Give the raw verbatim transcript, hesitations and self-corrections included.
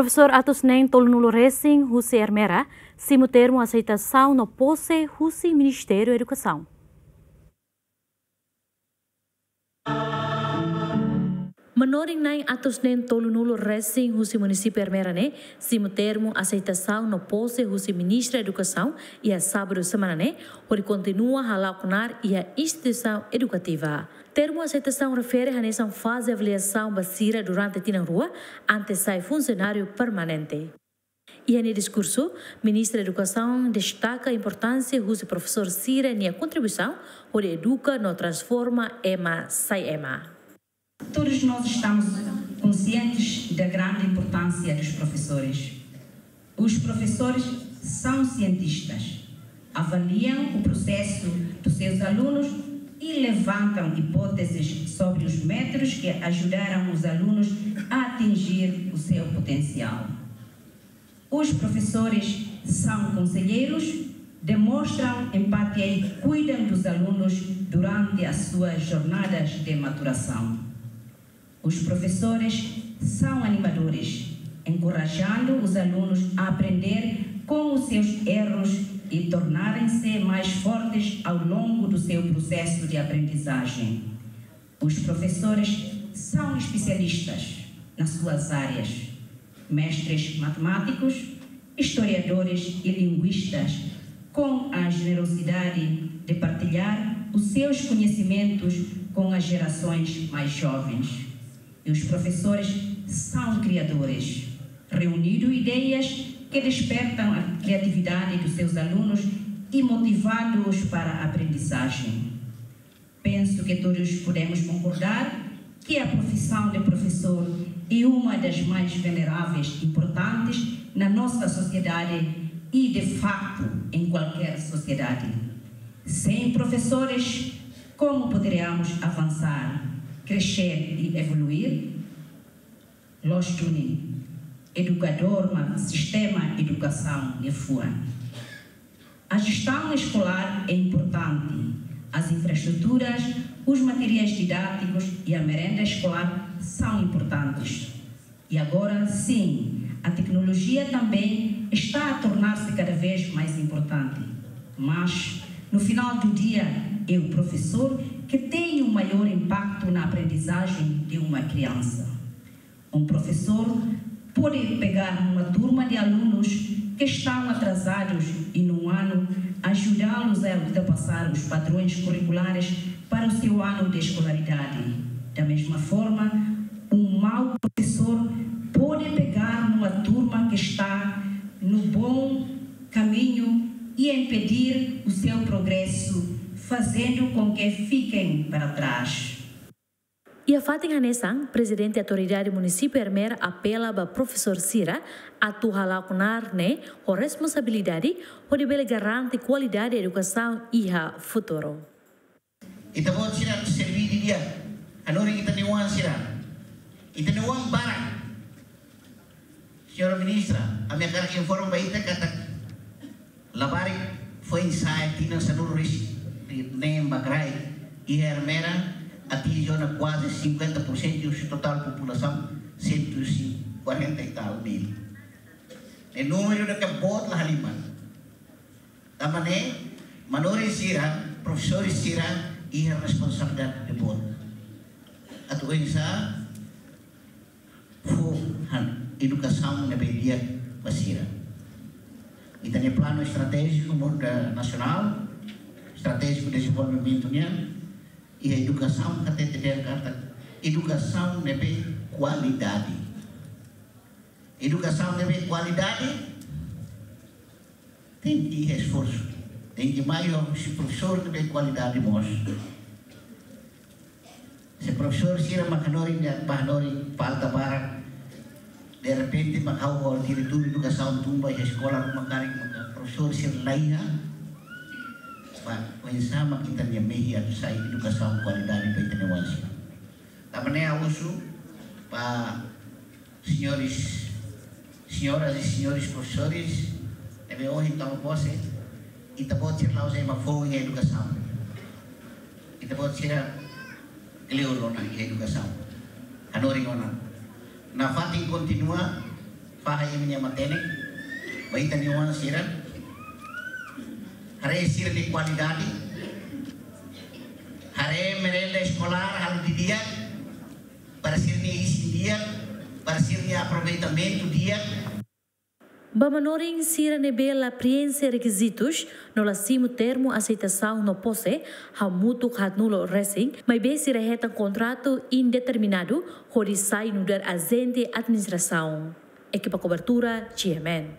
Profesór atus neen tolunulu resin husi Ermera simu termu aseitasaun no pose husi Ministériu Edukasaun. Manorin na'in atus neen tolunulu resin husi munisípiu Ermera ne'e simu termu aseitasaun no pose husi Ministra Edukasaun iha sábadu semana ne'e, hodi kontinua hala'o knaar iha instituisaun edukativa. Termu aseitasaun refere hanesan faze avaliasaun ba sira durante tinan rua, antes sai funsionáriu permanente. Iha nia diskursu, Ministra Edukasaun destaka importánsia husi profesór sira-nia kontribuisaun hodi eduka no transforma ema sai ema. Todos nós estamos conscientes da grande importância dos professores. Os professores são cientistas, avaliam o processo dos seus alunos e levantam hipóteses sobre os métodos que ajudaram os alunos a atingir o seu potencial. Os professores são conselheiros, demonstram empatia e cuidam dos alunos durante as suas jornadas de maturação. Os professores são animadores, encorajando os alunos a aprender com os seus erros e tornarem-se mais fortes ao longo do seu processo de aprendizagem. Os professores são especialistas nas suas áreas, mestres matemáticos, historiadores e linguistas, com a generosidade de partilhar os seus conhecimentos com as gerações mais jovens. E os professores são criadores, reunindo ideias que despertam a criatividade dos seus alunos e motivando-os para a aprendizagem. Penso que todos podemos concordar que a profissão de professor é uma das mais veneráveis, importantes na nossa sociedade e, de facto, em qualquer sociedade. Sem professores, como poderíamos avançar, crescer e evoluir? Loos duni, edukadór mak sistema edukasaun nia fuan. A gestão escolar é importante. As infraestruturas, os materiais didáticos e a merenda escolar são importantes. E agora, sim, a tecnologia também está a tornar-se cada vez mais importante. Mas, no final do dia, é o professor que tem o maior impacto na aprendizagem de uma criança. Um professor pode pegar uma turma de alunos que estão atrasados e, num ano, ajudá-los a ultrapassar os padrões curriculares para o seu ano de escolaridade. Da mesma forma, um mau professor pode pegar numa turma que está no bom caminho e impedir o seu progresso, fazendo com que fiquem para trás. Iha fatin hanesan, Prezidente Autoridade Munisípiu Ermera apela ba profesór sira atu hala'o knaar ne'e ho responsabilidade, hodi bele garante kualidade edukasaun iha futuru. Ita-boot sira serví didi'ak, hanorin ita-nia oan sira, ita-nia oan barak. Señora Ministra, ami hakarak informa ba ita katak labarik foin-sa'e tinan sanulu-resin-neen ba kraik iha Ermera atinje ona kuaze cinquenta por cento husi totál populasaun cento e quarenta e tal mil. Ne'e númeru ida ke boot la halimar. Tanba ne'e, manorin sira, profesór sira, iha responsabilidade boot atu oinsá fó han edukasaun ne'ebé di'ak ba sira. Ita-nia planu estratéjiku mundu nasionál, estratéjiku dezenvolvimentu nian, iha edukasaun hatete dehan katak edukasaun ne'ebé kualidade. Edukasaun ne'ebé kualidade tenke iha esforsu, tenke mai husi profesór ne'ebé kualidade mós. Se profesór sira mak hanorin, nia bá hanorin falta barak, derrepente mak ha'u ho diretór edukasaun tun ba iha eskola ruma karik maka profesór sira la iha, ba oinsá mak ita-nia mehi atu sai edukasaun kualidade ba ita-nia oan sira. Tanba ne'e ha'u husu ba señores, señoras e señores profesores, ne'ebé ohin toma pose, ita-boot sira la'ós ema foun iha edukasaun. Ita-boot sira kleur ona iha edukasaun. Hanorin ona. Nafatin kontinua, Fahe imi-nia matenek ba ita-nia oan sira, haree sira-nia kualidade, haree merenda eskolár halo didi'ak, para sira-nia isin di'ak, para sira-nia aproveitamentu di'ak. Ba manorin sira ne'ebé la prienxe rekizitus no la simu termu aseitasaun no pose, hamutuk haatnulu resin, maibé sira hetan kontratu indeterminadu hodi sai nu'udar ajente administrasaun. Ekipa kobertura, G M N.